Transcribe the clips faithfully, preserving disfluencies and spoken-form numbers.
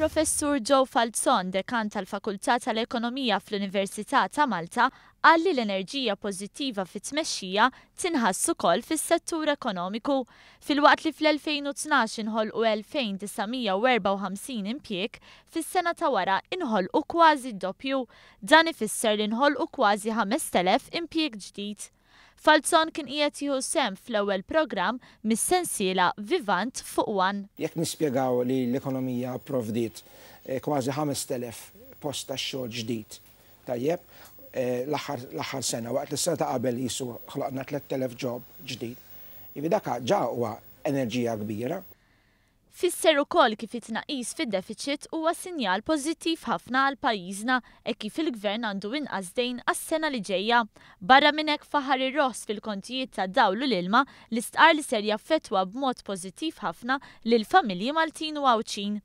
Il-Professur Joe Falzon, dekan tal-Fakultà tal-Ekonomija fl-Università ta' Malta, qal li l-enerġija pożittiva fit-tmexxija tinħass ukoll fis-settur ekonomiku. Filwaqt li fl-elfejn u tnax inħolqu elfejn disa' mija u erbgħa u ħamsin impjieg, fis-sena ta' wara inħolqu kważi d-doppju. Dan ifisser li nħolqu kważi ħamest elef impjieg ġdid. Falzon kien qiegħed jieħu sehem fl-ewwel programm mis-sensiela Vivant fuq One. Jekk nispjegaw li l-ekonomija provdiet, eh, kważi ħamest elef post ta' xogħol ġdid, tajjeb, eh, l-aħħar, l-aħħar sena, waqt li s-sena ta' qabel jisu ħloqna tlett elef job ġdid. Ivi dak ġa huwa enerġija kbira. Fisser ukoll kif it-tnaqqis fid-deficit huwa sinjal pożittiv ħafna għal pajjiżna e kif il-gvern għandu inqas dejn għas-sena li ġejja. Barra minn hekk faħar ir-roħs fil-kontijiet ta' dawl u l-ilma li stqar li ser jaffettwa b'mod pożittiv ħafna lil familji Maltin u Għawdxin.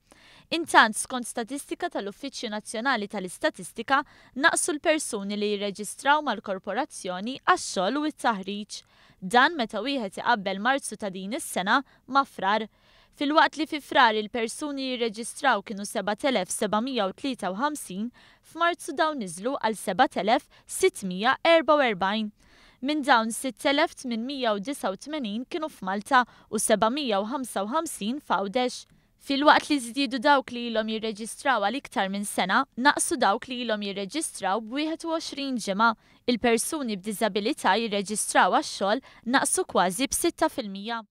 Intant, skont statistika tal-Uffiċċju Nazzjonali tal-Istatistika, naqsu l-persuni li jirreġistraw mal-korporazzjoni għax-xogħol u t-taħriġ. Dan meta wieħed iqabbel Marzu ta' din is-sena ma' Frar. Filwaqt li fi Frar il-persuni jirreġistraw kienu sebat elef seba' mija u tlieta u ħamsin, f'Marzu dawn niżlu għal sebat elef sitt mija erbgħa u erbgħin. Minn dawn sitt elef tmien mija u disgħa u tmenin kienu f'Malta u seba' mija u ħamsa u ħamsin f'Għawdex. Filwaqt li żdiedu dawk li ilhom jirreġistraw għal iktar minn sena, naqsu dawk li ilhom jirreġistraw b'wieħed u għoxrin ġimgħa. Il-persuni b'diżabilità jirreġistraw għax-xogħol naqsu kważi b'sitta fil-mija.